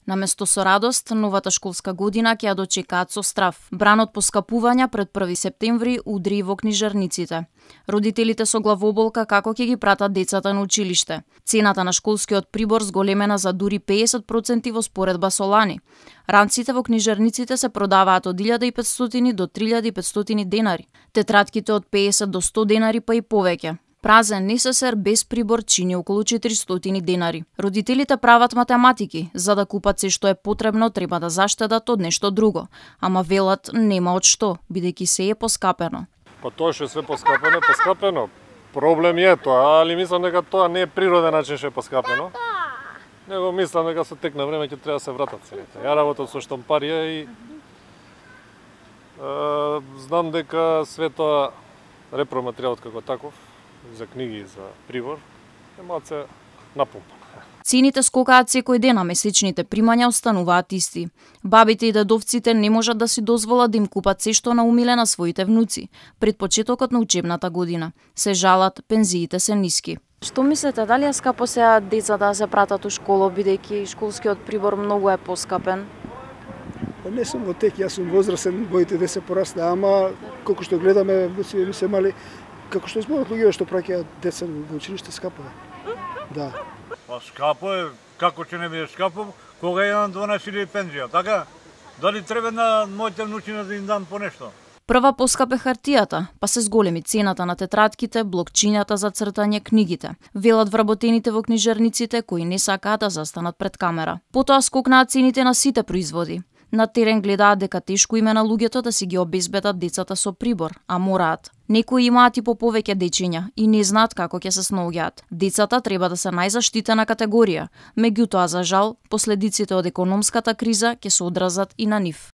Наместо со радост, новата школска година ќе ја дочекаат со страв. Бранот поскапувања пред 1 септември удри во книжарниците. Родителите со главоболка како ќе ги пратат децата на училиште. Цената на школскиот прибор зголемена за дури 50% во споредба со лани. Ранците во книжарниците се продаваат од 1500 до 3500 денари. Тетратките од 50 до 100 денари па и повеќе. Празен НССР без прибор чини околу 400 денари. Родителите прават математики, за да купат се што е потребно, треба да заштедат од нешто друго. Ама велат нема од што, бидејќи се е поскапено. Па тоа што е све поскапено, поскапено. Проблем е тоа, али мислам дека тоа не е природен начин што е поскапено. Него мислам дека со тек на време ќе треба да се вратат цените. Ја работам со штампарија и знам дека све тоа репроматеријалот како таков за книги и за прибор е малце напумпан. Цените скокаат секој ден, а месечните примања остануваат исти. Бабите и дедовците не можат да си дозволат да им купат се што наумиле на своите внуци пред почетокот на учебната година. Се жалат, пензиите се ниски. Што мислите, дали е скапо сега децата да се пратат у школа, бидејќи школскиот прибор многу е поскапен? Не сум во тек, јас сум возрастен, моите деца порасна, ама колку што гледаме, внуци ми се мали, како што зборот луѓе што праќаат деца во училиште, скапо е. Да. Па скапо е, како ќе не биде скапо, кога имам 12 пензија, така? Дали треба на моите внуци да им дам по нешто? Прва поскапе хартијата, па се зголеми цената на тетратките, блокчињата за цртање, книгите. Велат вработените во книжарниците кои не сакаат да застанат пред камера. Потоа скокнаат цените на сите производи. На терен гледаат дека тешко име на луѓето да си ги обезбедат децата со прибор, а мораат. Некои имаат и по повеќе дечиња и не знаат како ќе се снаоѓаат. Децата треба да се најзаштитена категорија, меѓутоа за жал, последиците од економската криза ќе се одразат и на нив.